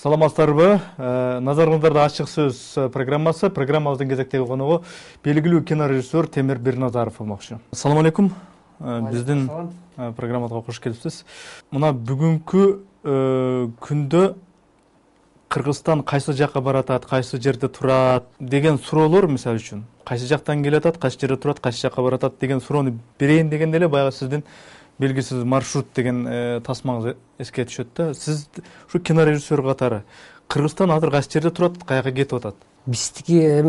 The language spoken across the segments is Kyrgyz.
Саламатсыздарбы? Назарыңыздарда ачык сөз программасы. Программабыздын кезектеги коногу белгилүү кинорежиссер Темир Бирназаров болмокчу. Assalamu алейкум. Биздин программага кош келипсиз. Мына бүгүнкү күндө Кыргызстан кайсы жакка баратат, кайсы жерде турат деген суроолор, мисалы үчүн, кайсы жактан келатат, кайсы жерде турат, кайсы жакка баратат деген суроону берейин дегенде эле баягы сиздин белгисиз маршрут деген тасмаңыз эске түшөт да. Сиз ушу кинорежиссер катары Кыргызстан азыр кайсы жерде турат, каяка кетип атат? Биздики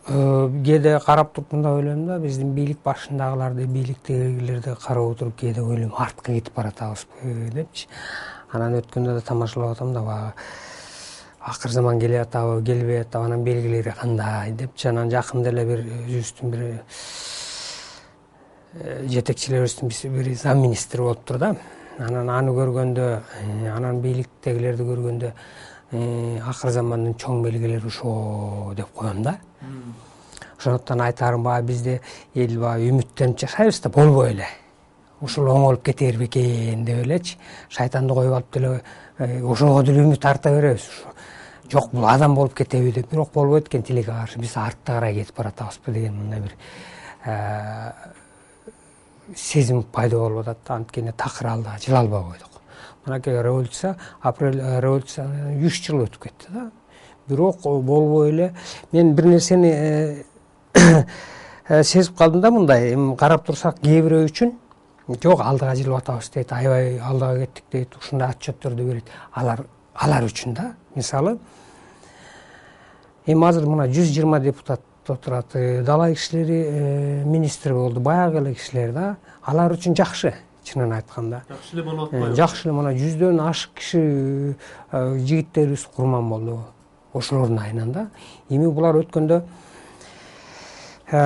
кээде карап туруп мындай ойлойм да, биздин бийлик башындагыларды, бийликтегилерди карап отуруп кээде ойлойм, артка кетип баратабызбы депчи. Анан өткөндө да тамашалап атам да, баягы акыр заман келе атабы, келбей атабы, анан белгилери кандай депчи. Анан жакында эле бир өзүбүздүн бир жетекчилерибиздин бир зам министри болуптур да. Анан аны көргөндө, анан бийликтегилерди көргөндө, акыр замандын чоң белгилери ошо деп коем да. Ошондуктан айтарым, баягы бизде эл баягы үмүттөнүп жашайбыз да, болбой эле. Ушул оңолуп кетер бекен деп элечи. Шайтанды коюп алып деле ошого деле үмүт арта беребиз. Жок, бул адам болуп кетеби деп, бирок болбойт экен тилекке каршы. Биз артка карай кетип баратабызбы деген мындай бир сезим пайда болуп атат да. Анткени такыр алда жыла албай койдук. Мынакей революция, апрель революциядан 3 жыл өтүп кетти да. Бирок болбой эле. Мен бир нерсени сезип калдым да, мындай карап турсак, кээ бирөө үчүн жок, алдыга жылып атабыз дейт, аябай алдыга кеттик дейт, ушундай отчеттөрдү берет. Алар үчүн да. Мисалы, азыр мына 120 депутат отурат, дала кишилери министр болду, баягы эле кишилер да. Алар үчүн жакшы, чынын айтканда. Жакшы эле болуп атпайбы? Жакшы эле, мына 100дөн ашык киши жигиттерибиз курман болду ошолордун айынан да. Эми булар өткөндө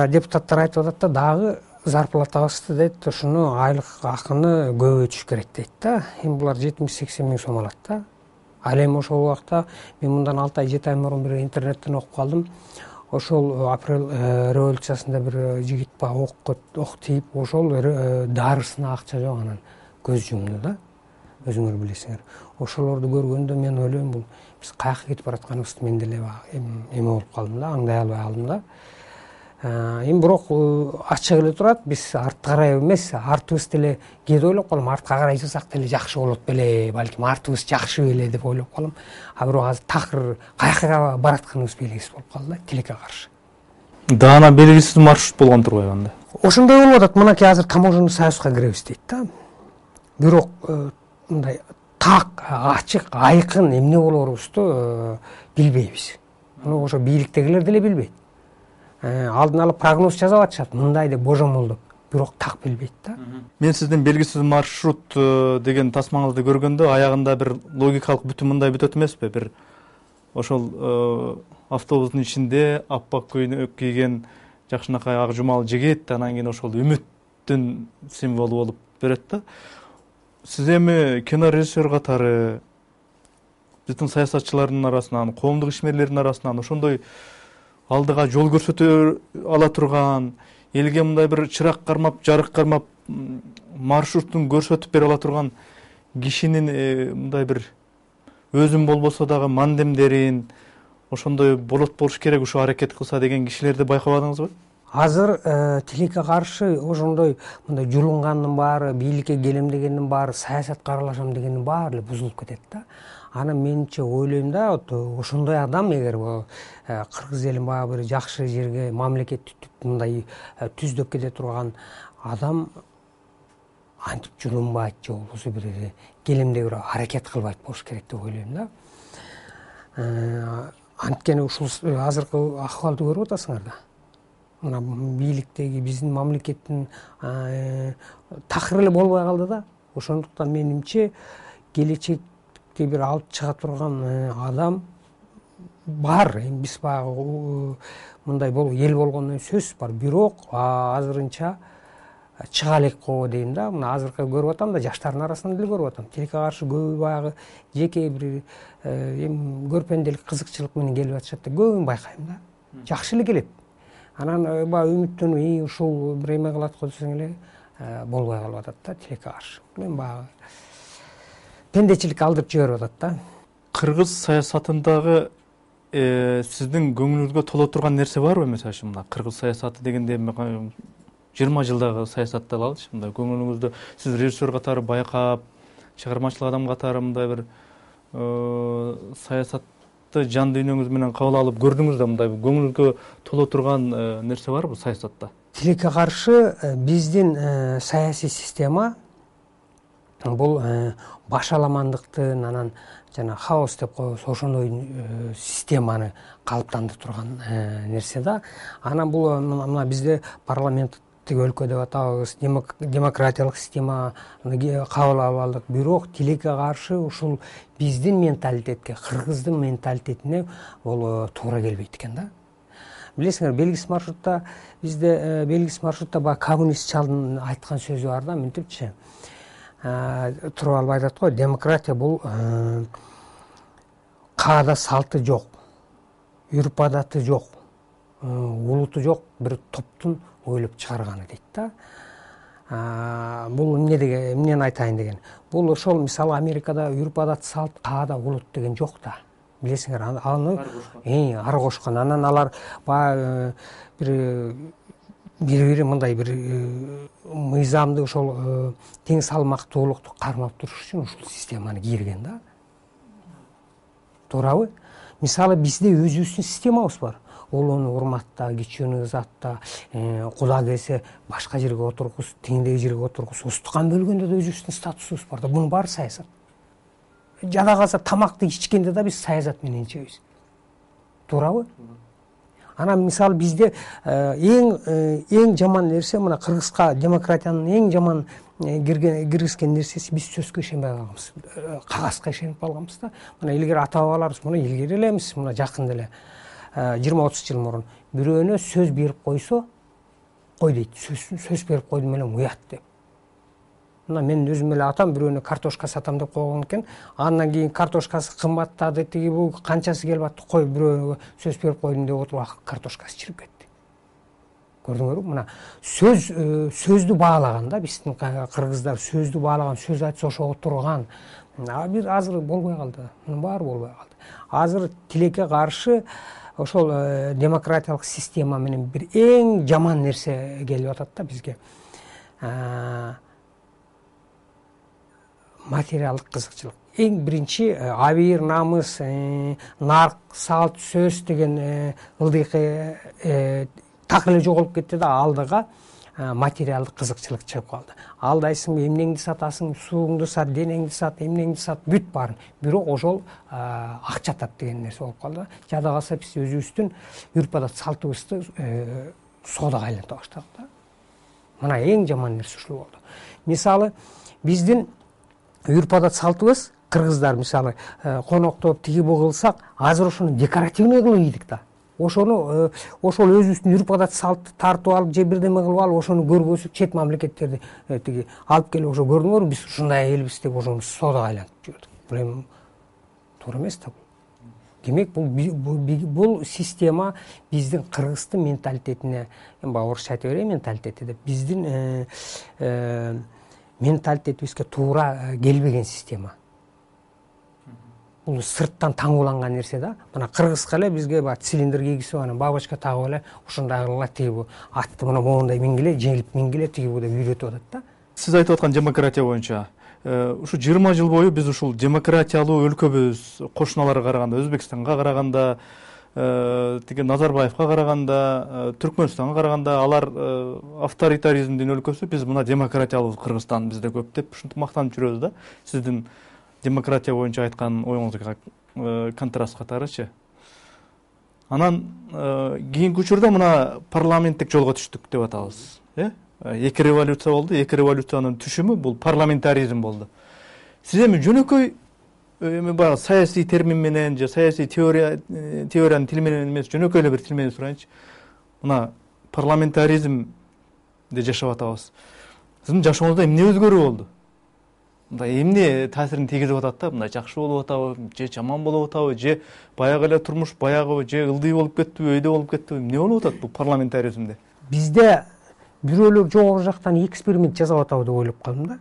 депутаттар айтып атат да, дагы зарплатабызды дейт, ушуну айлык акыны көбөйтүш керек дейт да. Эми булар 70-80 миң сом алат да. Ал эми ошол убакта мен мындан 6 ай 7 ай мурун бир интернеттен окуп калдым. Ошол апрель революциясында бир жигит ок тийип, ошол дарысына акча жок, анан көз жумду да. Өзүңөр билесиңер. Ошолорду көргөндө мен ойлойм, бул биз каяка кетип баратканыбызды мен деле эме болуп калдым да, аңдай албай калдым да. Эми бирок ачык эле турат, биз артка карай эмес, артыбыз деле кээде ойлоп калам, артка карай жасак деле жакшы болот беле, балким артыбыз жакшы беле деп ойлоп калам. А бирок азыр такыр каяка баратканыбыз белгисиз болуп калды да, тилекке каршы. Даана белгисиз маршрут болгон турбайбы анда? Ошондой болуп атат. Мынакей азыр таможенный союзга киребиз дейт да. Бирок мындай так, ачык, айкын эмне болорубузду билбейбиз. Муну ошо бийликтегилер деле билбейт. Алдын алып прогноз жасап атышат, мындай деп божомолдоп, бирок так билбейт да. Мен сиздин белгисиз маршрут деген тасмаңызды көргөндө аягында бир логикалык бүтүм мындай бүтөт эмеспи? Бир ошол автобустун ичинде аппак көйнөк кийген жакшынакай ак жумал жигит, анан кийин ошол үмүттүн символу болуп берет да. Сиз эми кинорежиссер катары биздин саясатчылардын арасынан, коомдук ишмерлердин арасынан ошондой алдыга жол көрсөтө ала турган, элге мындай бир чырак кармап, жарык кармап, маршрутун көрсөтүп бере ала турган кишинин мындай бир өзүм болбосо дагы мандемдерин, ошондой болуш керек, ушу аракет кылса деген кишилерди байкабадыңызбы? Азыр тилекке каршы ошондой мындай жулунгандын баары, бийликке келем дегендин баары, саясатка аралашам дегендин баары эле бузулуп кетет да. Анан менимче ойлойм да, ошондой адам эгер кыргыз элин баягы бир жакшы жерге, мамлекетти мындай түздөп кете турган адам антип жулунбайт же болбосо бир келемде бир аракет кылбайт болуш керек деп ойлойм да. Анткени ушул азыркы акыбалды көрүп атасыңар да. Мына бийликтеги биздин мамлекеттин такыр эле болбой калды да. Ошондуктан менимче келечекте бир алып чыга турган адам бар. Эми биз баягы мындай эл болгондон сөз бар. Бирок азырынча чыга элек го дейм да. Мына азыркы көрүп атам да, жаштардын арасынан деле көрүп атам. Тилекке каршы көбү баягы жеке бир эми көрпенделик, кызыкчылык менен келип атышат да, көбүн байкайм да. Жакшы эле келет. Анан баягы үмүттөнүп, ушул бир эме кылат го десең эле болбой калып атат да, тилекке каршы. Мен баягы пендечилик алдырып жиберип атат да. кыргыз саясатындагы сиздин көңүлүңүзгө толо турган нерсе барбы? Мисалы үчүн мына кыргыз саясаты дегенде 20 жылдагы саясатты алалычы. Мындай көңүлүңүздө сиз режиссер катары байкап, чыгармачылык адам катары мындай бир саясатты жан дүйнөңүз менен кабыл алып көрдүңүз да, мындай көңүлүңүзгө толо турган нерсе барбы саясатта? Тилекке каршы биздин саясий система бул башаламандыктын, анан жана хаос деп коебуз, ошондой системаны калыптандырып турган нерсе да. Анан бул мына бизде парламенттик өлкө деп атабыз, демократиялык системаны кабыл алып алдык. Бирок тилекке каршы ушул биздин менталитетке, кыргыздын менталитетине бул туура келбейт экен да. Билесиңер, белгисиз маршрутта бизде баягы коммунист чалдын айткан сөзү бар да, мынтипчи туруп алып айтат го, демократия бул каада салты жок, үрп адаты жок, улуту жок бир топтун ойлоп чыгарганы дейт да. Бул эмнени айтайын деген. Бул ошол мисалы Америкада үрп адат, салт, каада, улут деген жок да. Билесиңер, аны ар кошкон. Анан алар баягы бири мындай бир мыйзамды, ошол тең салмактуулукту кармап туруш үчүн ушул системаны кийирген да. Туурабы? Мисалы бизде өзүбүздүн системабыз бар. Улууну урматта, кичүүнү ызатта, куда келсе башка жерге отургуз, теңдеги жерге отургуз, устукан бөлгөндө да өзүбүздүн статусубуз бар да. Бунун баары саясат. Жада калса тамакты ичкенде да биз саясат менен ичебиз. Туурабы? Анан мисалы бизде эң жаман нерсе, мына кыргызга демократиянын эң жаман киргизген нерсеси, биз сөзгө ишенбей калганбыз, кагазга ишенип калганбыз да. Мына илгери ата бабаларыбыз, мына илгери эле эмес, мына жакында эле 20-30 жыл мурун бирөөнө сөз берип койсо, кой дейт, сөз берип койдум элем уят деп. Мына мен өзүм эле атам бирөөнө картошка сатам деп койгон экен. Андан кийин картошкасы кымбаттады, тиги бул канчасы келип атты, кой бирөөгө сөз берип койдум деп отуруп картошкасы чирип кетти. Көрдүңөрбү? Мына сөздү баалаган да, биздин кыргыздар сөздү баалаган, сөз айтса ошого турган. Бир азыр болбой калды. Мунун баары болбой калды. Азыр тилекке каршы ошол демократиялык система менен бир эң жаман нерсе келип атат да бизге. Материалдык кызыкчылык. Эң биринчи абийир, намыс, нарк, салт, сөз деген ылдыйкы так эле жоголуп кетти да, алдыга материалдык кызыкчылык чыгып калды. Алдайсыңбы, эмнеңди сатасың, сууңду сат, денеңди сат, эмнеңди сат, бүт баарын. Бирок ошол акча тап деген нерсе болуп калды. Жада калса биз өзүбүздүн үрп адат, салтыбызды соодага айланта баштадык да. Мына эң жаман нерсе ушул болду. Мисалы биздин үрп адат салтыбыз, кыргыздар мисалы коноктоп тиги бу кылсак, азыр ошону декоративный кылып ийдик да. Ошол өзүбүздүн үрп адат салтты тартып алып, же бирдеме кылып алып, ошону көрбөсүп, чет мамлекеттерди тиги алып келип, ошо көрдүңөрбү, биз ушундай элбиз деп ошону соодага айлантып жүрдүк. Бул эми туура эмес да бул. Демек бул система биздин кыргыздын менталитетине, эми баягы орусча айта берейин, менталитети деп, биздин менталитетибизге туура келбеген система. Бул сырттан таңууланган нерсе да. Мына кыргызга эле бизге баягы цилиндр кийгизип, анан бабочка тагып эле ушундай кылгыла, тиги бу атты мына моундай мингиле, жеңилип мингиле, тиги бу деп үйрөтүп атат да. Сиз айтып аткан демократия боюнча ушу 20 жыл бою биз ушул демократиялуу өлкөбүз, кошуналарга караганда, Өзбекстанга караганда, тиги Назарбаевка караганда, Түркмөнстанга караганда алар авторитаризмдин өлкөсү, биз мына демократиялуу Кыргызстан бизде көп деп ушинтип мактанып жүрөбүз да. Сиздин демократия боюнча айткан оюңузга контраст катарычы. Анан кийинки учурда мына парламенттик жолго түштүк деп атабыз. Эки революция болду. Эки революциянын түшүмү бул парламентаризм болду. Сиз эми жөнөкөй эми баягы саясий термин менен же саясий теориянын тили менен эмес, жөнөкөй эле бир тил менен сурайынчы. Мына парламентаризмде жашап атабыз. Сиздин жашооңузда эмне өзгөрүү болду? Мындай эмне таасирин тийгизип атат да? Мындай жакшы болуп атабы, же жаман болуп атабы, же баягы эле турмуш баягы, же ылдый болуп кеттиби, өйдө болуп кеттиби? Эмне болуп атат бул парламентаризмде? Бизде бирөөлөр жогору жактан эксперимент жасап атабы деп ойлоп калдым да.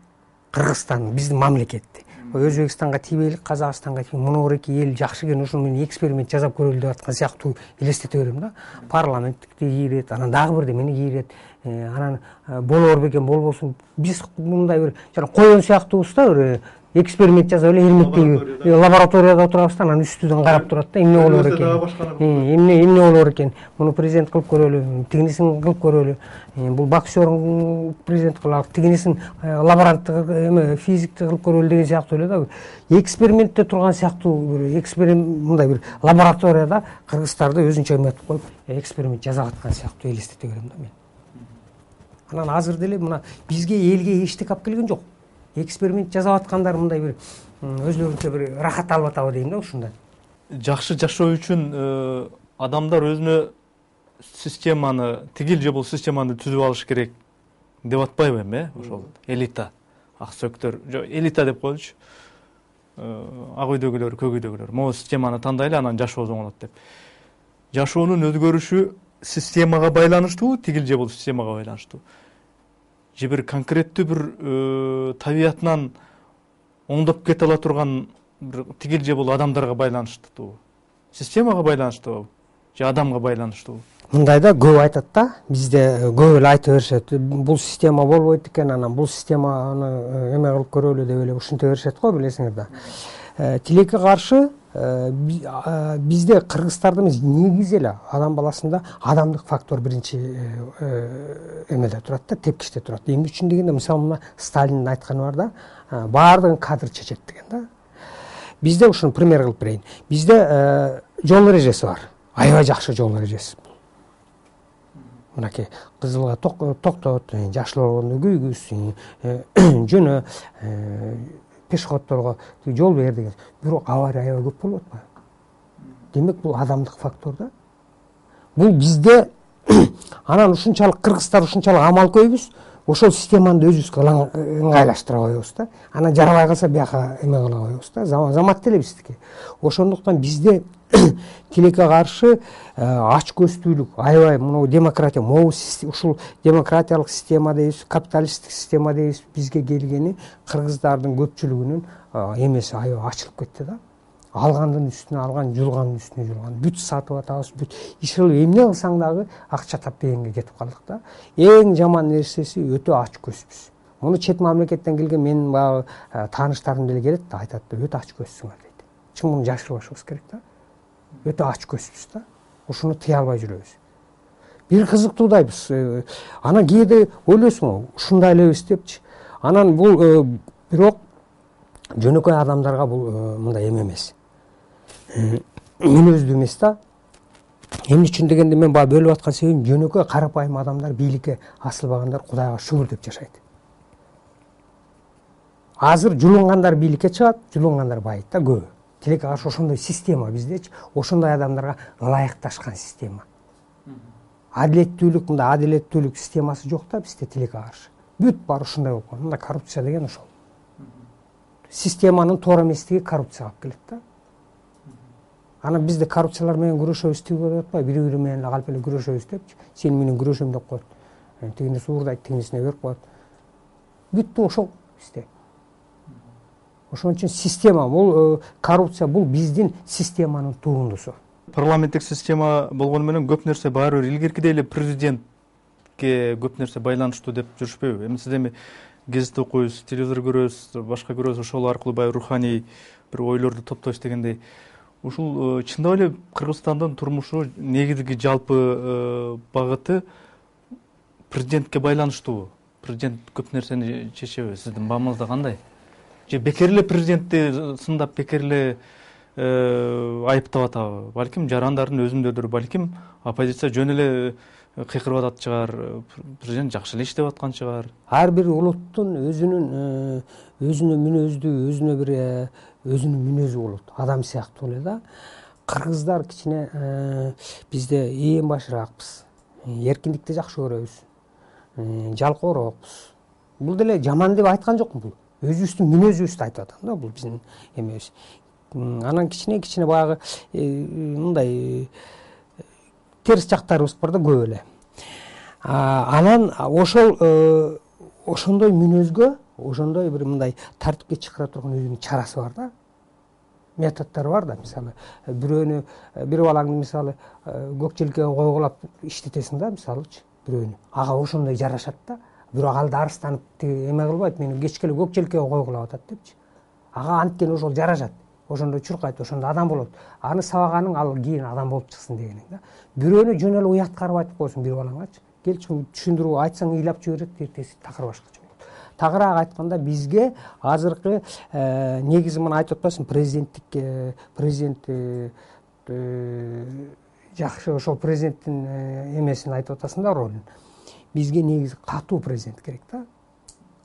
Кыргызстан, биздин мамлекетти. Өзбекстанга тийбейлик, Казакстанга муну эки эл жакшы экен, ошону мен эксперимент жасап көрөлү деп аткан сыяктуу элестете берем да. Парламенттикти кийрет, анан дагы бирдемени кийрет, анан болор бекен, болбосун. Биз мындай бир жана коен сыяктуубуз да, бир эксперимент жасап эле эрмектеги лабораторияда отурабыз да, анан үстүдөн карап турат да, эмне болор экен, эмне болор экен, муну президент кылып көрөлү, тигинисин кылып көрөлү, бул боксердун президент кылып, тигинисин лаборанттык эме физикти кылып көрөлү деген сыяктуу эле да. Экспериментте турган сыяктуу бир эксперимент, мындай бир лабораторияда кыргыздарды өзүнчө эметип коюп эксперимент жасап аткан сыяктуу элестете берем да мен. Анан азыр деле мына бизге элге эчтеке алып келген жок. Эксперимент жасап аткандар мындай бир өзлөрүнчө бир рахат алып атабы дейм да ушундай. Жакшы жашоо үчүн адамдар өзүнө системаны, тигил же бул системаны түзүп алыш керек деп атпайбы эми, ошол элита, ак сөктөр, элита деп коелучу. Ак үйдөгүлөр, көк үйдөгүлөр могу системаны тандайлы, анан жашообуз оңолот деп. Жашоонун өзгөрүшү системага байланыштуубу, тигил же бул системага байланыштуу? Же бир конкреттүү бир табиятынан оңдоп кете ала турган бир тигил же бул адамдарга байланыштуубу? Системага байланыштуубу же адамга байланыштуубу? Мындай да көп айтат да, бизде көп эле айта беришет. Бул система болбойт экен, анан бул системаны эме кылып көрөлү деп эле ушинте беришет го, билесиңер да. Тилекке каршы бизде кыргыздарда эмес, негизи эле адам баласында адамдык фактор биринчи эмеде турат да, тепкичте турат. Эмне үчүн дегенде, мисалы мына Сталиндин айтканы бар да, баардыгын кадр чечет деген да. Бизде ушуну пример кылып берейин. Бизде жол эрежеси бар. Аябай жакшы жол эрежеси. Мынакей кызылга токтот, жашыл болгондо күйгүз, жөнө, пешеходдорго жол бер деген. Бирок авария аябай көп болуп атпайбы? Демек бул адамдык фактор да. Бул бизде анан ушунчалык кыргыздар ушунчалык амал көйбүз, ошол системаны өзүбүзгө ыңгайлаштыра коебуз да. Анан жарабай калса бияка эме кыла коебуз да. Замат деле биздики. Ошондуктан бизде тилекке каршы ач көздүүлүк, аябай мына демократия, ушул демократиялык система дейбиз, капиталисттик система дейбиз, бизге келгени кыргыздардын көпчүлүгүнүн эмеси аябай ачылып кетти да. Алгандын үстүнө алган, жулгандын үстүнө жулган, бүт сатып атабыз, бүт иш кылып эмне кылсаң дагы акча тап дегенге кетип калдык да. Эң жаман нерсеси өтө ач көзбүз. Муну чет мамлекеттен келген менин баягы тааныштарым деле келет да, айтат да, өтө ач көзсүңөр дейт. Чын муну жашырбашыбыз керек да. Өтө ач көзбүз да. Ушуну тыя албай жүрөбүз. Бир кызыктуудайбыз. Анан кээде ойлойсуң, ушундай элебиз депчи. Анан бул бирок жөнөкөй адамдарга бул мындай эме эмес. Мүнөздүү эмес да. Эмне үчүн дегенде, мен баягы бөлүп аткан себебим, жөнөкөй карапайым адамдар, бийликке асылбагандар Кудайга шүгүр деп жашайт. Азыр жулунгандар бийликке чыгат, жулунгандар байыйт да көбү. Тилекке каршы ошондой система биздечи, ошондой адамдарга ылайыкташкан система. Адилеттүүлүк, мындай адилеттүүлүк системасы жок да бизде тилекке каршы. Бүт баары ушундай болуп калган. Мындай коррупция деген ошол. Системанын туура эместиги коррупцияга алып келет да. Анан бизде коррупциялар менен күрөшөбүз деп атпайбы, бири-бири менен калп эле күрөшөбүз депчи. Сен менен күрөшөм деп коет. Тигини суурдайт, тигинисине берип коет. Бүттү ошол бизде. Ошон үчүн система, бул коррупция, бул биздин системанын турундусу. Парламенттик система болгону менен көп нерсе баары бир илгеркидей эле президентке көп нерсе байланыштуу деп жүрүшпөйбү? Эми сиз эми гезит окуйсуз, телевизор көрөсүз, башка көрөсүз, ошол аркылуу баягы руханий бир ойлорду топтойсуз дегендей. Ушул чындап эле Кыргызстандын турмушу негизги жалпы багыты президентке байланыштуубу? Президент көп нерсени чечеби? Сиздин баамыңызда кандай? Же бекер эле президентти сындап, бекер эле айыптап атабы? Балким жарандардын өзүндөдүр, балким оппозиция жөн эле кыйкырып атат чыгар, президент жакшы эле иштеп аткан чыгар. Ар бир улуттун өзүнүн мүнөздүү, өзүнүн мүнөзү болот, адам сыяктуу эле да. Кыргыздар кичине бизде ээн башыраакпыз, эркиндикти жакшы көрөбүз, жалкоорокпуз. Бул деле жаман деп айткан жокмун, бул өзүбүздүн мүнөзүбүздү айтып атам да, бул биздин эмебиз. Анан кичине баягы мындай терс жактарыбыз бар да, көп эле. Анан ошондой мүнөзгө ошондой бир мындай тартипке чакыра турган өзүнүн чарасы бар да, методдору бар да. Мисалы бирөөнү, бир балаңды мисалы көк желкеге койгулап иштетесиң да, мисалычы бирөөнү, ага ошондой жарашат да. Бирок ал да арыстанып эме кылбайт, мени кечке эле көк желкеге койгулап атат депчи. Ага анткени ошол жарашат, ошондо чуркайт, ошондо адам болот. Аны сабаганың ал кийин адам болуп чыксын дегениң да. Бирөөнү жөн эле уяткарып айтып койсуң бир балаңачы, келчи түшүндүрүп айтсаң ыйлап жиберет, эртеси такыр башкача болот. Тагыраак айтканда бизге азыркы негизи мына айтып атпайсыңбы, президент жакшы, ошол президенттин эмесин айтып атасың да, ролун. Бизге негизи катуу президент керек да.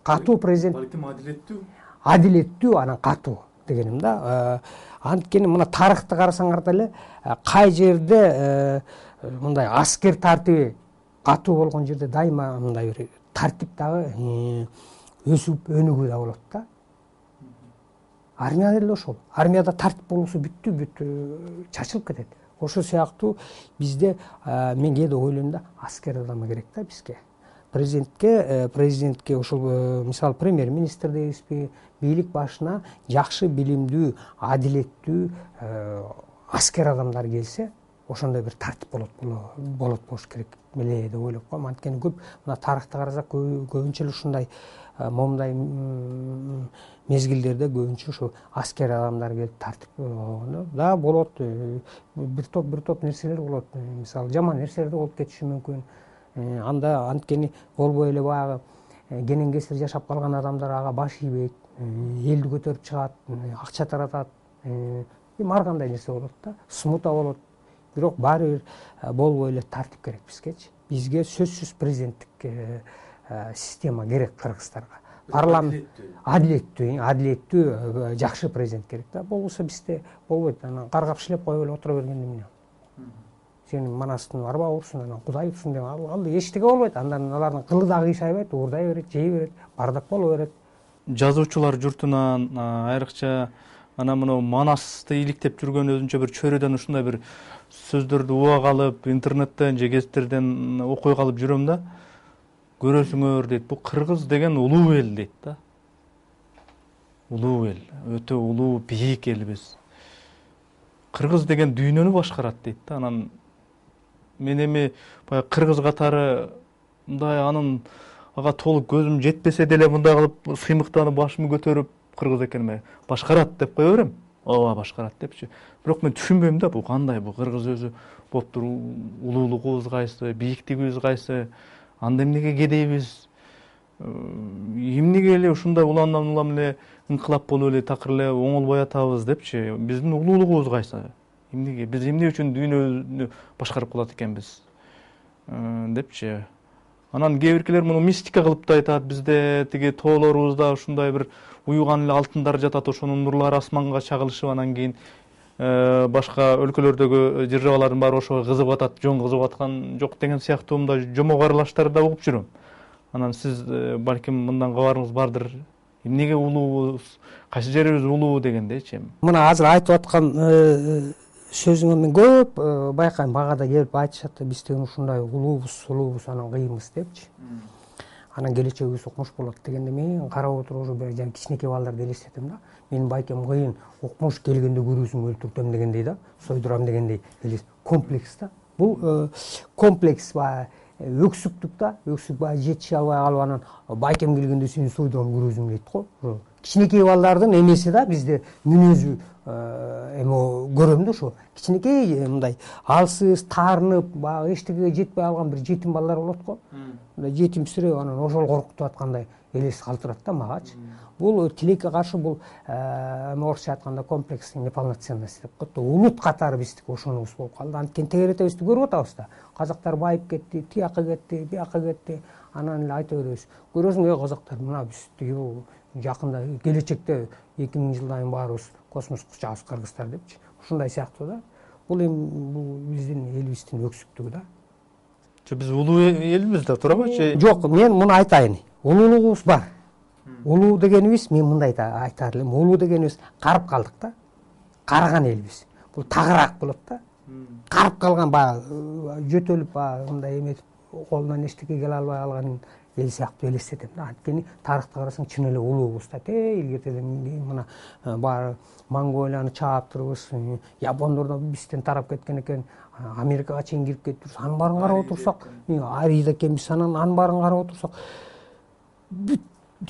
Катуу президент, балким адилеттүү, анан катуу дегеним да. Анткени мына тарыхты карасаңар деле кай жерде мындай аскер тартиби катуу болгон жерде дайыма мындай бир тартип дагы өсүп өнүгүү да болот да. Армияда эле ошол. Армияда тартип болбосо бүт чачылып кетет. Ошол сыяктуу бизде мен кээде ойлойм да, аскер адамы керек да бизге. Президентке ошол мисалы премьер-министр дейбизби, бийлик башына жакшы билимдүү, адилеттүү аскер адамдар келсе, ошондой бир тартип болот болуш керек беле деп ойлоп коем. Анткени көп мына тарыхты карасак көбүнчө эле ушундай момундай мезгилдерде көбүнчө ушу аскер адамдар келип тартип да болот. Бир топ нерселер болот. Мисалы жаман нерселер да болуп кетиши мүмкүн. Анда анткени болбой эле баягы кенен кесир жашап калган адамдар ага баш ийбейт, элди көтөрүп чыгат, акча таратат, ар кандай нерсе болот да, смута болот. Бирок баары бир болбой эле тартип керек бизгечи. Бизге сөзсүз президенттик система керек кыргыздарга. Парламент адилеттүү, жакшы президент керек да. Болбосо бизде болбойт. Анан каргап шилеп коюп эле отура бергенде эмне? Сен манастын арба урсун, анан Кудай урсун деп ал эчтеке болбойт. Андан алардын кылы да кыйшайбайт, уурдай берет, жей берет, бардак боло берет. Жазуучулар журтунан айрыкча анан мына Манасты иликтеп жүргөн өзүнчө бир чөйрөдөн ушундай бир сөздөрдү уга калып, интернеттен же гезиттерден окуй калып жүрөм да. Көрөсүңөр дейт, бул кыргыз деген улуу эл дейт да. Улуу эл, өтө улуу, бийик элбиз. Кыргыз деген дүйнөнү башкарат дейт да. Анан мен эми баягы кыргыз катары мындай ага толук көзүм жетпесе деле мындай кылып сыймыктанып башымды көтөрүп кыргыз экениме башкарат деп кое берем. Ооба башкарат депчи. Бирок мен түшүнбөйм да, бул кандай, бул кыргыз өзү болуптур, улуулугубуз кайсы, бийиктигибиз кайсы, анда эмнеге кедейбиз, эмнеге эле ушундай улам эле инкылап болуп эле такыр эле оңолбой атабыз депчи. Биздин улуулугубуз кайсы? Эмнеге биз эмне үчүн дүйнөнү башкарып калат экенбиз депчи. Анан кээ биркилер муну мистика кылып да айтат. Бизде тиги тоолорубузда ушундай бир уюган эле алтындар жатат, ошонун нурлары асманга чагылышып, анан кийин башка өлкөлөрдөгү державалардын баары ошого кызыгып атат, жөн кызыгып аткан жок деген сыяктуу мындай жомок аралаштарды да угуп жүрөм. Анан сиз балким мындан кабарыңыз бардыр. Эмнеге улуубуз, кайсы жерибиз улуу дегендейчи. Мына азыр айтып аткан сөзүңө мен көп байкайм, багада келип айтышат да, биз деген ушундай улуубуз, анан кыйынбыз депчи. Анан келечегибиз укмуш болот дегенде мен карап отуруп уже бир кичинекей балдарды элестетем да. Менин байкем кыйын, укмуш келгенде күрүүсүн өлтүртөм дегендей да, сойдурам дегендей комплекс да. Бул комплекс баягы өксүктүк да, өксүк баягы жетиши албай калып анан байкем келгенде сени сойдурам күрүүсүң дейт го. Кичинекей балдардын эмеси да бизде мүнөзү эме көрөм да, ошо кичинекей мындай алсыз, таарынып, баягы эчтекеге жетпей алган бир жетим балдар болот го. Жетимсиреп анан ошол коркутуп аткандай элес калтырат да магачы. Бул тилекке каршы, бул орусча айтканда комплексный неполноценность деп коет да. Улут катары биздики ошонубуз болуп калды. Анткени тегеретебизди көрүп атабыз да. Казактар байып кетти, тияка кетти, бияка кетти. Анан эле айта беребиз. Көрөсүң, казактар, мына биз тиги жакында келечекте 2000 жылдан кийин баарыбыз космоско учабыз кыргыздар депчи. Ушундай сыяктуу да. Бул эми биздин элибиздин өксүктүгү да. Биз улуу элбиз да, турабычы? Жок, мен муну айтайын. Улуулугубуз бар. Улуу дегенибиз, мен мындай айтар элем, улуу дегенибиз карып калдык да. Карыган элбиз. Бул тагыраак болот да. Карып калган баягы жөтөлүп баягы мындай эметип колунан эчтеке келе албай калган эл сыяктуу элестетем да. Анткени тарыхты карасаң чын эле улуубуз да. Илгертеден мына баары Монголияны чаап турбуз, япондор бизден тарап кеткен экен, Америкага чейин кирип кетипбиз. Анын баарын карап отурсак, Арида экенбиз, анын баарын карап отурсак, бүт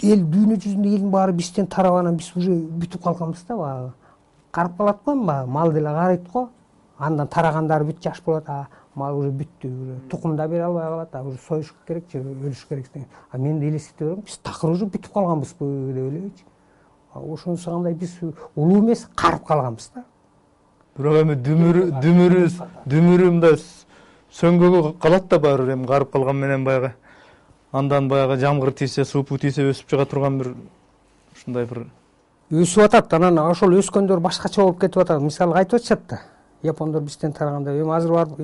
эл дүйнө жүзүндө элдин баары бизден тарап, анан биз уже бүтүп калганбыз да. Баягы карап калат го, мал деле карайт го. Андан тарагандары бүт жаш болот, мал уже бүттү, тукум да бере албай калат, уже союш керек же өлүш керек деген. Мен да элестете берем, биз такыр уже бүтүп калганбызбы деп ойлойчу. Ошонусу кандай биз улуу эмес, карып калганбыз да. Бирок эми дүмүрү мындай сөңгөгө калат да баары бир, эми карып калган менен баягы андан баягы жамгыр тийсе, суупу тийсе өсүп чыга турган бир ушундай бир өсүп атат. Анан ошол өскөндөр башкача болуп кетип атат. Мисалы айтып атышат да, япондор бизден тараганда. Эми азыр барып,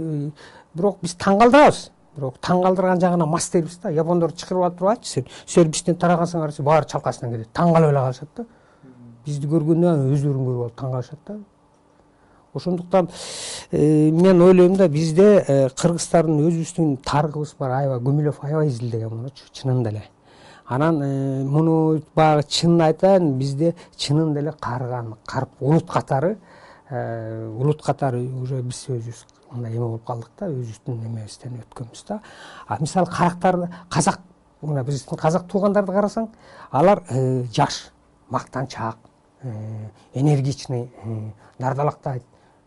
бирок биз таң калтырабыз. Бирок таң калтырган жагына мас дейбиз да. Япондор чакырып алып турбайчы, сен бизден тарагансыңар десе, баары чалкасынан кетет. Таң калып эле калышат да. Бизди көргөндө өздөрүн көрүп алып таң калышат да. Ошондуктан мен ойлойм да, бизде кыргыздардын өзүбүздүн тарыхыбыз бар, аябай Гумилев аябай изилдеген мунучу, чынында эле. Анан муну баягы чынын айтайын, бизде чынында эле карп улут катары уже биз өзүбүз мындай эме болуп калдык да, өзүбүздүн эмебизден өткөнбүз да. Мисалы казак, мына биздин казак туугандарды карасаң, алар жаш, мактанчаак, энергичный, дардалактайт,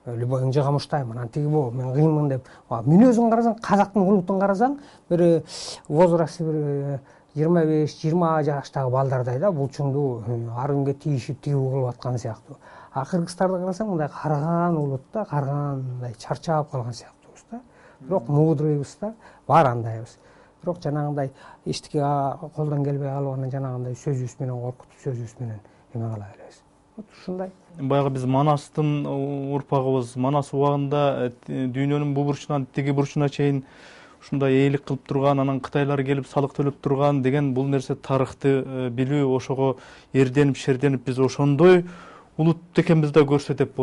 любой ыңжыга муштайм, анан тиги мен кыйынмын деп. Мүнөзүн карасаң, казактын улутун карасаң, бир возрасты бир 25-20 жаштагы балдардай да, булчуңдуу ар күнгө тийишип тигүү кылып аткан сыяктуу. Кыргыздарды карасаң, мындай карган улут да, мындай чарчап калган сыяктуубуз да. Бирок мудрыйбыз да, баары андайбыз. Бирок жанагындай эчтеке колдон келбей калып, анан жанагындай сөзүбүз менен коркутуп, сөзүбүз менен эме кыла беребиз. Ушундай. Баягы биз Манастын урпагыбыз, Манас убагында дүйнөнүн бул бурчунан тиги бурчуна чейин ушундай ээлик кылып турган, анан кытайлар келип салык төлөп турган деген бул нерсе тарыхты билүү, ошого эрденип, шерденип биз ошондой улут экенбиз да көрсөтөт,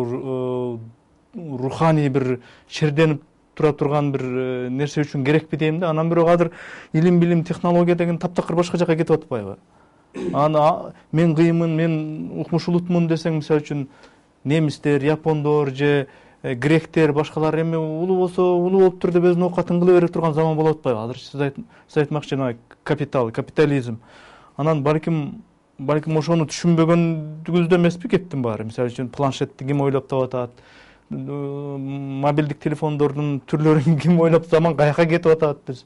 руханий бир шерденип тура турган бир нерсе үчүн керекпи дейм да. Анан бирок азыр илим, билим, технология деген таптакыр башка жака кетип атпайбы? Мен кыйынмын, мен укмуш улутмун десең, мисалы үчүн немистер, япондор же гректер, башкалар эми улуу болсо улуу болуптур деп өзүнүн оокатын кыла бере турган заман болуп атпайбы? Азыр сиз айтмакчы жана капитализм. Анан балким ошону түшүнбөгөндүгүбүздө эмеспи кептин баары? Мисалы үчүн планшетти ким ойлоп таап атат, мобилдик телефондордун түрлөрүн ким ойлоп, заман каяка кетип атат? Биз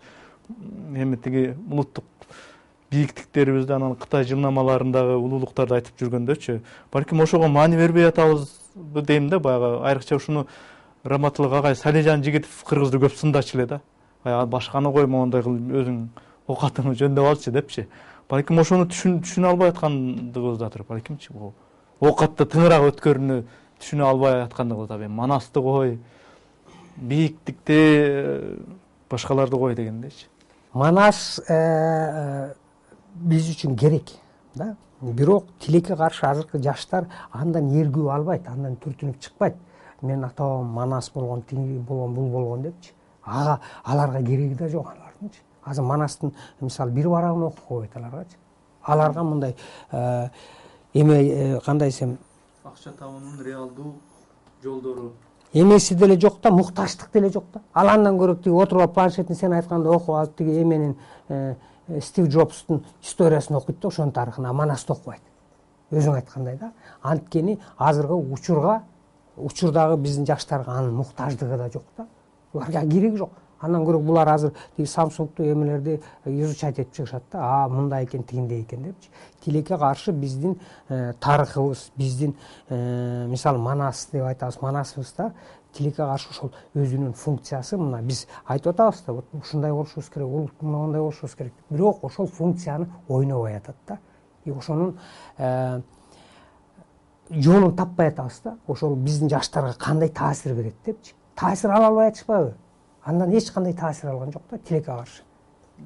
эми тиги улуттук бийиктиктерибизди, анан Кытай жылнамаларындагы улуулуктарды айтып жүргөндөчү, балким ошого маани бербей атабызбы дейм да. Баягы айрыкча ушуну Раматылык агай Салижан Жигитов кыргызды көп сындачу эле да. Баягы башканы кой, моундай кылып өзүң оокатыңды жөндөп алчы депчи. Балким ошону түшүнө албай аткандыгыбыздадыр, балкимчи. Оокатты тыңыраак өткөрүүнү түшүнө албай аткандыгыбызда. Манасты кой, бийиктикти, башкаларды кой дегендейчи. Манас биз үчүн керек да. Бирок тилекке каршы азыркы жаштар андан эргүү албайт, андан түртүнүп чыкпайт. Мен атам Манас болгон, тиги болгон, бул болгон депчи. Аларга кереги да жок алардынчы. Азыр Манастын мисалы бир барагын окуп койбойт аларгачы. Аларга мындай эме кандай десем, акча табуунун реалдуу жолдору эмеси деле жок да, мукташтык деле жок да. Ал андан көрө тиги отуруп алып планшетин сен айтканда окуп алып тиги эменин Стив Джобстун историясын окуйт да, ошонун тарыхын, Манасты окубайт. Өзүң айткандай да. Анткени азыркы учурдагы биздин жаштарга анын муктаждыгы да жок да. Буларга кереги жок. Андан көрө булар азыр тиги Samsung'ту эмелерди изучать этип чыгышат да. Мындай экен, тигиндей экен депчи. Тилекке каршы биздин тарыхыбыз, биздин мисалы Манас деп айтабыз, Манасыбызда тилекке каршы ошол өзүнүн функциясы, мына биз айтып атабыз да, вот ушундай болушубуз керек, мындай болушубуз керек. Бирок ошол функцияны ойнобой атат да. Ошонун жолун таппай атабыз да. Ошол биздин жаштарга кандай таасир берет депчи. Таасир ала албай атышпайбы? Андан эч кандай таасир алган жок да тилекке каршы.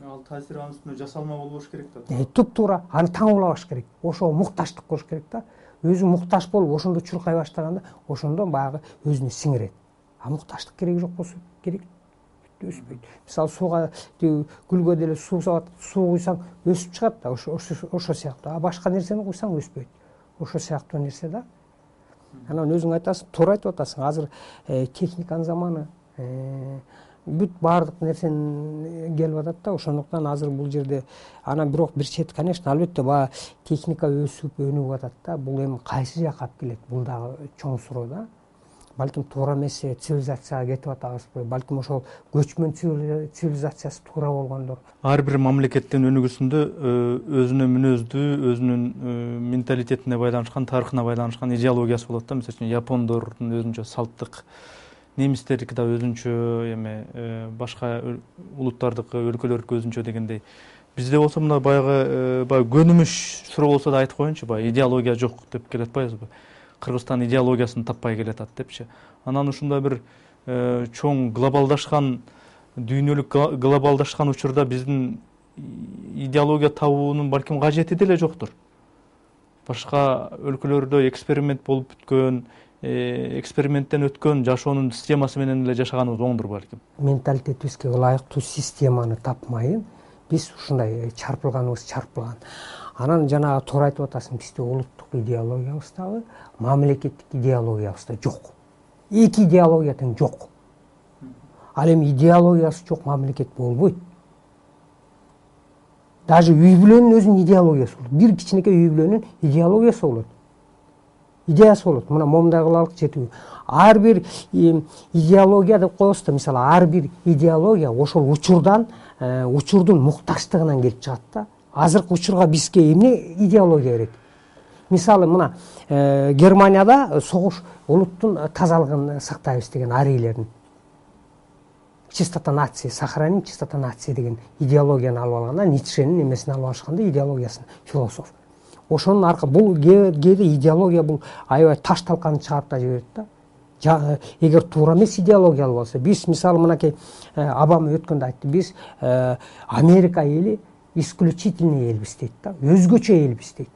Ал таасир анын үстүнө жасалма болбош керек да. Туп-туура аны таңуулабаш керек. Ошого мукташтык кош керек да. Өзү мукташ болуп ошондо чуркай баштаганда, ошондо баягы өзүнө сиңирет. Мукташтык кереги жок болсо керек. өспөйт. Мисалы сууга гүлгө деле суу куйсаң өсүп чыгат да, ошо сыяктуу. А башка нерсени куйсаң өспөйт. Ошо сыяктуу нерсе да. Анан өзүң айтасың, туура айтып атасың. Азыр техниканын заманы, бүт баардык нерсен келип атат да, ошондуктан азыр бул жерде анан бирок бир чети, конечно, албетте баягы техника өсүп өнүгүп атат да. Бул эми кайсы жака алып келет? Бул дагы чоң суроо да. Балким туура эмес цивилизацияга кетип атабызбы? Балким ошол көчмөн цивилизациясы туура болгондор. Ар бир мамлекеттин өнүгүүсүндө өзүнө мүнөздүү, өзүнүн менталитетине байланышкан, тарыхына байланышкан идеологиясы болот да. Мисалы үчүн япондордун өзүнчө салттык, немистердики да өзүнчө, эми башка улуттардыкы, өлкөлөрдүкү өзүнчө дегендей. Бизде болсо мына баягы көнүмүш суроо болсо да айтып коеюнчу, баягы идеология жок деп келе атпайбызбы? Кыргызстан идеологиясын таппай келатат депчи. Анан ушундай бир чоң глобалдашкан, дүйнөлүк глобалдашкан учурда биздин идеология табуунун балким кажети деле жоктур. Башка өлкөлөрдө эксперимент болуп бүткөн, эксперименттен өткөн жашоонун системасы менен эле жашаганыбыз оңдур балким. Менталитетибизге ылайыктуу системаны тапмайын биз ушундай чарпылган. Анан жанагы туура айтып атасың, бизде улуттук идеологиябыз дагы, мамлекеттик идеологиябыз да жок. Эки идеология тең жок. Ал эми идеологиясы жок мамлекет болбойт. Даже үй бүлөнүн өзүнүн идеологиясы болот. Бир кичинекей үй бүлөнүн идеологиясы болот. Идеясы болот. Мына момундай кылалык жетүү. Ар бир идеология деп коебуз да, мисалы ар бир идеология ошол учурдун муктачтыгынан келип чыгат да. Азыркы учурга бизге эмне идеология керек? Мисалы мына Германияда согуш улуттун тазалыгын сактайбыз деген арийлердин. Чистота нации, сохраним чистота нации деген идеологияны алып алганда, Ницшенин эмесин алып алышканда, идеологиясын, философ. Ошонун бул кээде идеология бул аябай таш талканды чыгарып да жиберет да. Эгер туура эмес идеология алып алса, биз мисалы мынакей Обама өткөндө айтты, биз Америка эли исключительный элбиз дейт да, өзгөчө элбиз дейт.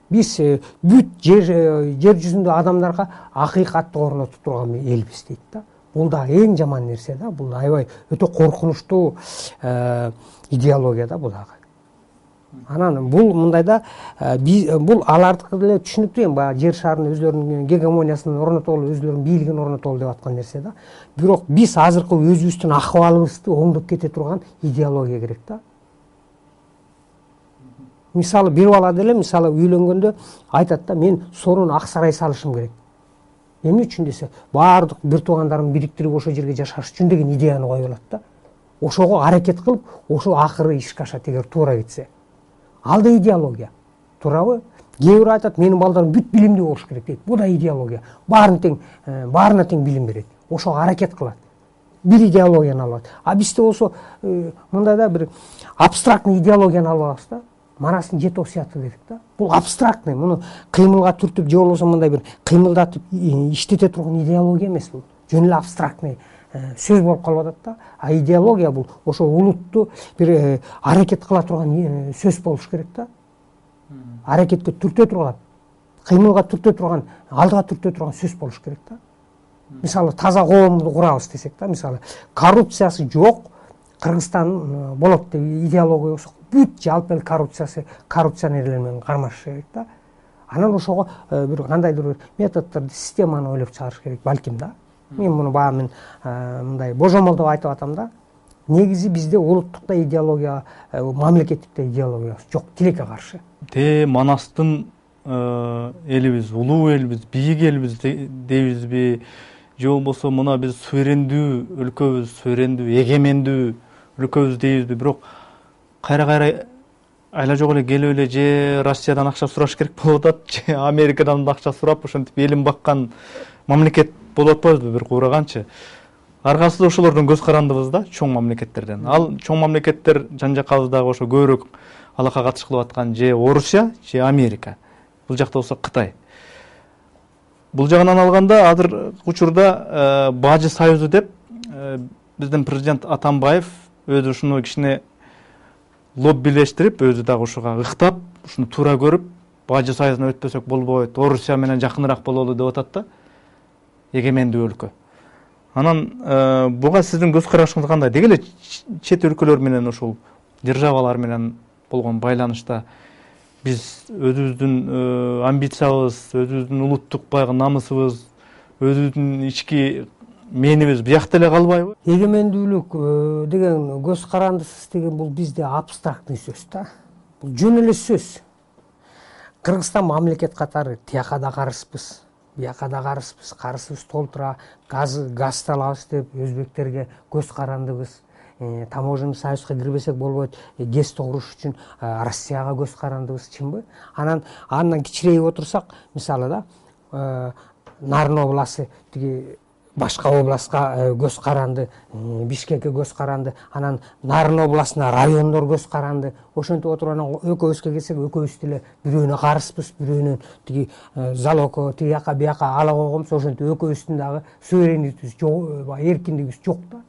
Биз бүт жер жүзүндө адамдарга акыйкатты орнотуп турган элбиз дейт да. Бул да эң жаман нерсе да, бул аябай өтө коркунучтуу идеология да бул дагы. Анан бул мындай да, бул алардыкы деле түшүнүктүү, эми баягы жер шарынын өзлөрүнүн гегемониясын орнотолу, өзлөрүнүн бийлигин орнотолу деп аткан нерсе да. Бирок биз азыркы өзүбүздүн акыбалыбызды оңдоп кете турган идеология керек да. Мисалы бир бала деле мисалы үйлөнгөндө айтат да, мен сонун ак сарай салышым керек. Эмне үчүн десе, баардык бир туугандарымды бириктирип ошол жерге жашаш үчүн деген идеяны коюп алат да. Ошого аракет кылып, ошол акыры ишке ашат эгер туура кетсе. Ал да идеология. Туурабы? Кээ бирөө айтат, менин балдарым бүт билимдүү болуш керек дейт. Бул да идеология. Баарына тең билим берет. Ошого аракет кылат. Бир идеологияны алат. А бизде болсо мындай да бир абстрактный идеологияны алып алабыз да. Марасын жеток сыяты дедик да. Бул абстрактный, муну кыймылга түртүп же болбосо мындай бир кыймылдатып иштете турган идеология эмес бул. Жөн эле абстрактный сөз болуп калып атат да. А идеология бул ошо улутту бир аракет кыла турган сөз болуш керек да. Аракетке түртө турган, кыймылга түртө турган, алдыга түртө турган сөз болуш керек да. Мисалы таза коомду курабыз десек да, мисалы коррупциясы жок Кыргызстан болот деп идеология болсо, бүт жалпы эл коррупционерлер менен кармашыш керек да. Анан ошого бир кандайдыр бир методдорду, системаны ойлоп чыгарыш керек балким да. Мен муну баары мындай божомол деп айтып атам да. Негизи бизде улуттукта идеология, мамлекеттикте идеология жок, тилекке каршы. Манастын элибиз, улуу элбиз, бийик элбиз дейбизби? Же болбосо мына биз суверендүү өлкөбүз, суверендүү, эгемендүү өлкөбүз дейбизби? Бирок кайра айла жок эле келип эле же Россиядан акча сураш керек болуп атат, же Америкадан да акча сурап ошентип элин баккан мамлекет болуп атпайбызбы бир куураганчы? Аргасы да ошолордон көз карандыбыз да, чоң мамлекеттерден. Ал чоң мамлекеттер жан жакабыздагы ошо көбүрөөк алака катыш кылып аткан же Орусия, же Америка. Бул жакта болсо Кытай. Бул жагынан алганда азыр учурда Бажы союзу деп биздин президент Атамбаев өзү ушуну кичине лоббилештирип, өзү дагы ушуга ыктап, ушуну туура көрүп, Бажы союзуна өтпөсөк болбойт, Орусия менен жакыныраак бололу деп атат да. Эгемендүү өлкө. Анан буга сиздин көз карашыңыз кандай? Деги эле чет өлкөлөр менен ушул державалар менен болгон байланышта биз өзүбүздүн амбициябыз, өзүбүздүн улуттук баягы намысыбыз, өзүбүздүн ички менибиз биякта эле калбайбы? Эгемендүүлүк деген көз карандысыз деген бул бизде абстрактный сөз да. Бул жөн эле сөз. Кыргызстан мамлекет катары тияка да карызбыз, бияка да карызбыз, карызыбыз толтура, газ алабыз деп өзбектерге көз карандыбыз. Таможенный союзга кирбесек болбойт, ГЭСти куруш үчүн Россияга көз карандыбыз, чынбы? Андан кичирейип отурсак, мисалы да, Нарын областы тиги башка областка көз каранды, Бишкекке көз каранды, анан Нарын областына райондор көз каранды. Ошентип отуруп анан экөөбүзгө келсек, экөөбүз деле бирөөнө карызбыз, бирөөнөн тиги залогко тияка бияка ала койгонбуз. Ошентип экөөбүздүн дагы суверенитетибиз жок, эркиндигибиз жок да.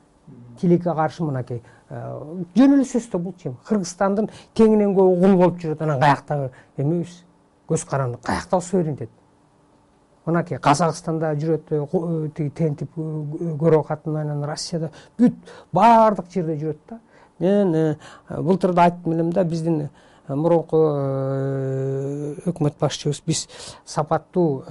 Тилекке каршы мынакей жөн эле сөз да бул чим. Кыргызстандын теңинен көп кул болуп жүрөт, анан каяктагы эмебиз? Көз каранды, каяктагы суверенитет? Мынакей Казакстанда жүрөт, тиги тентип көрө катын, анан Россияда бүт баардык жерде жүрөт да. Мен былтыр да айттым элем да, биздин мурунку өкмөт башчыбыз биз сапаттуу,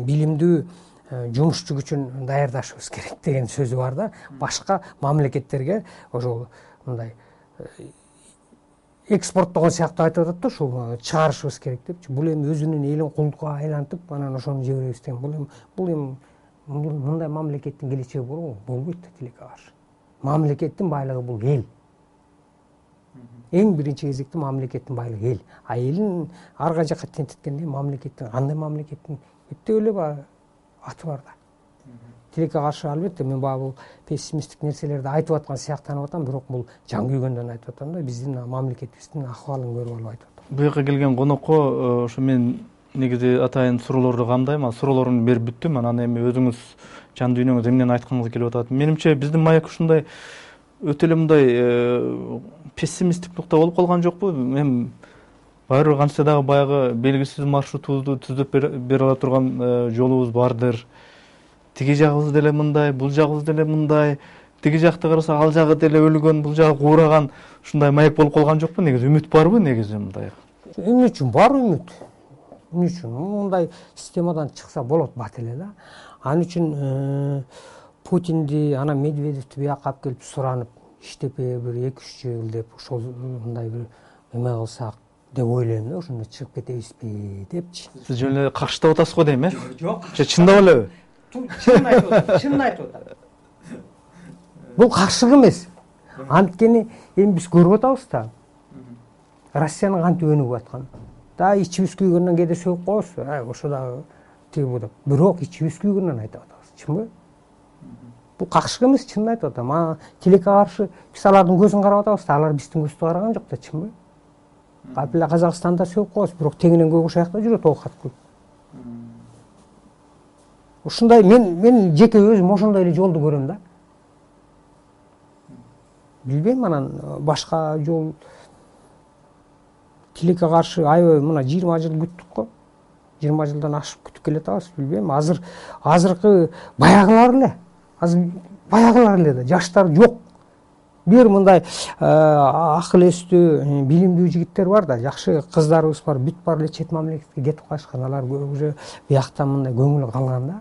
билимдүү жумушчу күчүн даярдашыбыз керек деген сөзү бар да. Башка мамлекеттерге ошол мындай экспорттогон сыяктуу айтып атат да, ушул чыгарышыбыз керек депчи. Бул эми өзүнүн элин кулдукка айлантып, анан ошону жиберебиз деген. Бул эми мындай мамлекеттин келечеги болобу? Болбойт да тилекке каршы. Мамлекеттин байлыгы бул эл. Эң биринчи кезекте мамлекеттин байлыгы эл. А элин арга жакка тентиткенде мамлекеттин, андай мамлекеттин эптеп эле аты бар да. Тилекке каршы албетте мен бул пессимисттик нерселерди айтып аткан сыяктанып атам, бирок бул жан күйгөндөн айтып атам да, биздин мамлекетибиздин акыбалын көрүп алып айтып атам. Бу жака келген конокко ошо мен негизи атайын суроолорду камдайм, суроолорумду берип бүттүм. Анан эми өзүңүз жан дүйнөңүз эмнени айткыңыз келип атат? Менимче биздин маек ушундай өтө эле мындай пессимисттик нукта болуп калган жокпу? Мен баары бир канча дагы баягы белгисиз маршрутубузду түзүп бере ала турган жолубуз бардыр. Тиги жагыбыз деле мындай, бул жагыбыз деле мындай, тиги жакты караса ал жагы деле өлгөн, бул жагы куураган, ушундай маек болуп калган жокпу? Негизи үмүт барбы негизи мындай? Эмне үчүн бар үмүт? Эмне үчүн? Мындай системадан чыкса болот бат эле да. Ал үчүн Путинди, анан Медведевди бияка алып келип суранып, иштепе бир 2-3 жыл деп ошол мындай бир эме кылсак деп ойлойм да, ошондо чыгып кетебизби депчи. Сиз жөн эле каршытап атасыз го дейм, Жок. Чындап элеби? Чын айтып атам, чын айтып атам. Бул каршылык эмес. Анткени эми биз көрүп атабыз да. Россиянын кантип өнүгүп атканын. Да ичибиз күйгөндөн кээде сөгүп коебуз. Ошо дагы тиги бу деп. Бирок ичибиз күйгөндөн айтып атабыз. Чынбы? Бул каршылык эмес, чын айтып атам. Тилекке каршы биз алардын көзүн карап атабыз да, алар биздин көздү караган жок да, чынбы? Калп эле Казакстанда сөгүп коебуз, бирок теңинен көп ошол жакта жүрөт оокат кылып. Ушундай мен жеке өзүм ошондой эле жолду көрөм да. Билбейм, анан башка жол тилекке каршы аябай мына 20 жыл күттүк го. 20 жылдан ашып күтүп келатабыз, билбейм. Азыркы баягылар эле да, жаштар жок. Бир мындай акыл эстүү, билимдүү жигиттер бар да, жакшы кыздарыбыз бар, бүт бар эле чет мамлекетке кетип калышкан. Алар уже биякта мындай көңүлү калган да.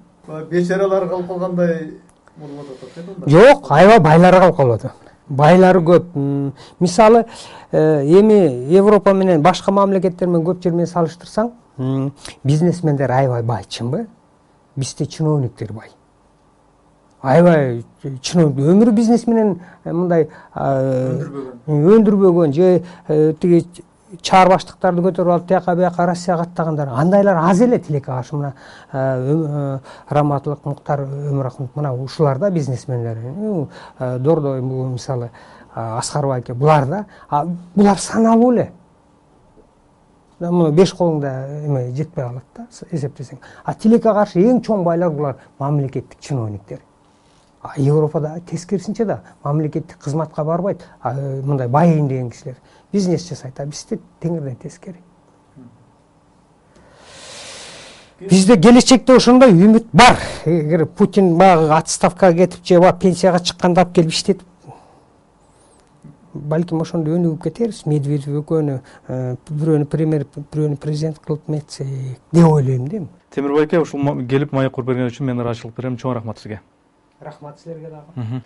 Бечаралар калып калгандай болуп атат. Жок, аябай байлар калып калып атат. Байлары көп. Мисалы, эми Европа менен башка мамлекеттер менен көп жер менен салыштырсаң, бизнесмендер аябай бай, чынбы? Бизде чиновниктер бай. Аябай чиновник өмүрү бизнес менен мындай өндүрбөгөн же тиги чаар баштыктарды көтөрүп алып тияка бияка Россияга аттагандар, андайлар аз эле тилекке каршы. Мына Раматылык, Муктар Өмүрахмет, мына ушулар да бизнесмендер. Дордой мисалы Аскарбай аке, булар да, булар саналуу эле. Мына 5 колуңда эме жетпей калат да, эсептесең. Тилекке каршы эң чоң байлар булар мамлекеттик чиновниктер. Европада тескерисинче да мамлекеттик кызматка барбайт, мындай байыйын деген кишилер бизнес жасайт, бизде теңирден тескери. Бизде келечекте ошондой үмүт бар. Эгер Путин баягы отставкага кетип же пенсияга чыкканда алып келип иштетип, балким ошондо өнүгүп кетербиз. Медведев экөөнү бирөөнү премьер, бирөөнү президент кылып метсек деп ойлойм да. Темирбай аке, ушул келип маек куруп берген үчүн мен ыраазычылык берем. Чоң рахмат сизге. Рахмат силерге дагы.